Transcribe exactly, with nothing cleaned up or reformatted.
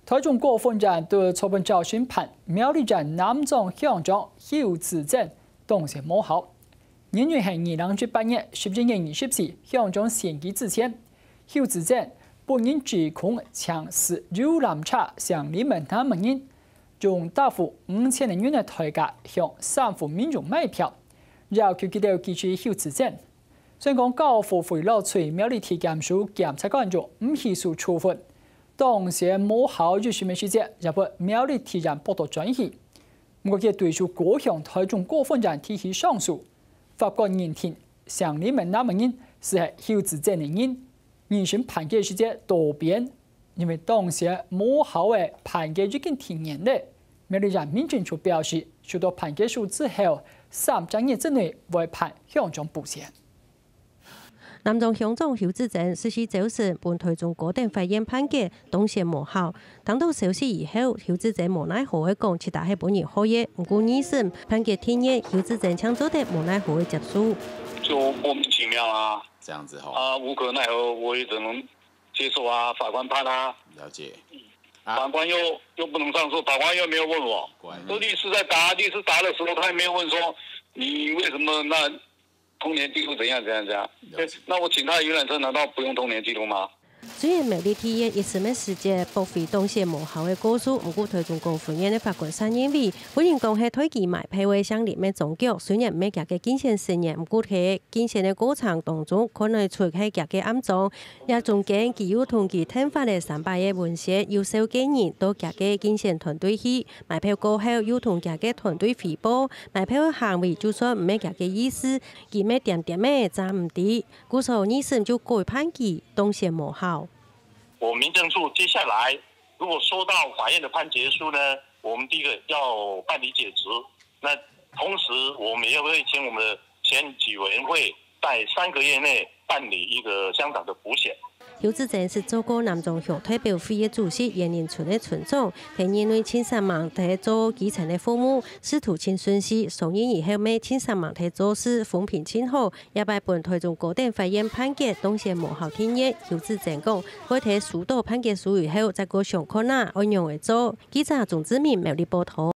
臺中高分院對昨晡朝審判苗栗縣南庄鄉長邱子珍當選無效。原因係二零一八年十一月二十四鄉長選舉之前，邱子珍本人指控曾駛遊覽車上裡面男人，用大約五千个銀个代價向三戶民眾買票，要求佢兜支持邱子珍。 雖然講教育部為了追苗栗地檢署檢察官就毋起訴處分，當選無效一審个時節，也分苗栗地院駁到轉去。毋過佢對手高雄臺中高分院提起上訴，法官認定上裡面男人就係邱子珍个人，二審判決時節倒變，因為當選無效个判決已經定讞了。苗栗縣民政處表示，收到判決書之後，三隻月之內會判鄉長補選。 南庄鄉長邱子珍十四朝晨分臺中高等法院判決當選無效。聽到消息以後，邱子珍無奈何个講，其實係分人害个。毋過二審判決定讞，邱子珍正做得無奈何个接受。就莫名其妙啊！這樣子吼，啊，無可奈何，我也只能接受啊，法官判啊。了解。法官又又不能上訴，法官又沒有問我。乖。都律師在答，律師答的時候他也沒有問說你為什麼那童年記錄怎樣怎樣怎樣。了解。那我請他遊覽車難道不用童年記錄嗎？雖然苗栗地院一審个時節駁回當選無效个告訴，毋過臺中高分院个法官卻認為，分人講係代佢買票个姓林个張局，雖然毋係佢个競選成員，毋過在競選个過程當中，看得出係佢个暗樁。這中間，佢又同佢𢯭發个三百个文宣，有紹介人到佢个競選團隊去，買票過後又同佢个團隊回報，買票个行為就算毋係佢个意思，佢乜恬恬仔詐毋知。 故所二審就改判佢當選無效。我民政處接下來如果收到法院的判決書呢，我們第一個要辦理解職，那同時我們也會請我們的選舉委員會在三個月內辦理一個鄉長的補選。邱子珍係做過南庄鄉代表會个主席、員林村个村長，係因為盡煞猛在做基層个服務，仕途盡順序，上任以後乜盡煞猛在做事，風評盡好， 這擺分臺中高等法院判決當選無效定讞，邱子珍講，會在收到判決書以後，再過想看啊，愛仰仔做。記者鍾志明苗栗報導。